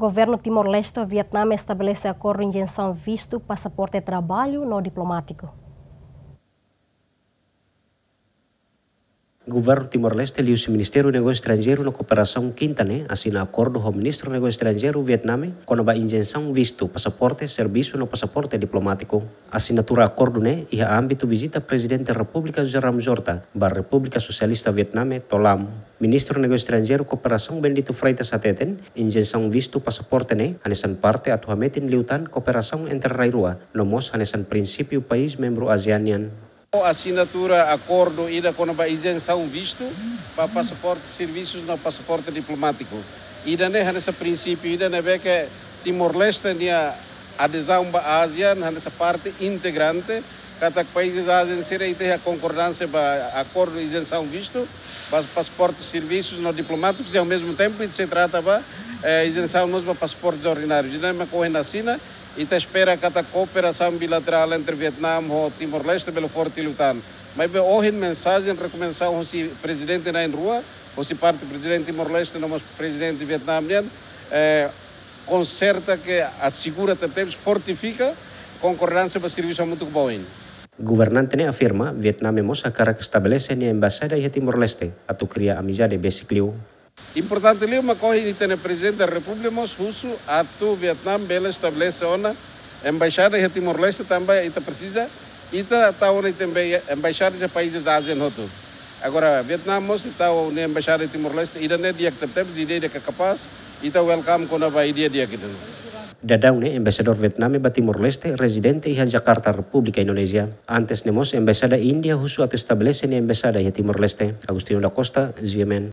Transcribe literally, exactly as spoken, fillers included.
Governu Timor-Leste ho Vietname estabelese akordu izensaun vistu, pasaporte traballu no diplomátiku. Governu Timor-Leste liuhusi Ministériu Negósiu Estranjeiru no Kooperasaun kinta ne'e asina akordu ho Ministru Negósiu Estranjeiru Vietname kona-ba izensaun vistu, pasaporte servisu no pasaporte diplomátiku. Asinatura akordu ne'e iha ámbitu vizita Prezidente Repúblika José Ramos Horta ba Repúblika Sosialista Vietname, TOLAM. Ministru Negósiu Estranjeiru Kooperasaun Bendito Freitas hateten, izensaun vistu, pasaporte ne'e hanesan parte atu hametin liután kooperasaun entre rai rua, no mós hanesan prinsípiu país membru ASEAN nian. Asinatura akordu ida kona-ba izensaun vistu ba pasaporte servisus no pasaporte diplomátiku. Ida-ne'e hanesan prinsípiu ida ne'ebé ke Timor-Leste nia adezaun ba ASEAN hanesan parte integrante, katak países ASEAN sira ita iha konkordánsia ba akordu izensaun vistu ba pasaporte servisus no diplomátikus, i ao mesmo tempo ita sei trata ba, eh, izensaun mós ba pasaportes ordinárius. Ida-ne'e mak ohin asina, ita espera katak kooperasaun bilaterál entre Vietname ho Timor-Leste bele forte liután. Maibé ohin mensajen rekomendasaun hosi prezidente na'in-rua, hosi parte prezidente Timor-Leste no mós prezidente Vietname nian, eh, konserta ke asegura tebetebes, fortifika konkordánsia ba servisu hamutuk ba oin. Governante ne'e afirma, Vietname mós hakarak estabelese nia embaixada iha Timor-Leste, atu kria amizade besik liu. Importante liu mak ohin ita-nia Prezidente da Repúblika mós husu atu Vietname bele estabelese ona embaixada iha Timor-Leste, tanba ita presiza, ita tau ona ita emba-, embaixada iha países ASEAN hotu. Agora, Vietname mós tau nia embaixada iha Timor-Leste, ida-ne'e di'ak tebetebes, ida-ne'e di'ak kapás, ita welcome kona-ba ideia di'ak ida-ne'e. Daudaun ne'e, embaixadór Vietname ba Timor-Leste rezidente iha Jakarta, Repúblika Indonézia. Antes ne'e mós, embaixada Índia husu atu estabelese nia embaixada iha Timor-Leste. Agostinho da Costa, G M N.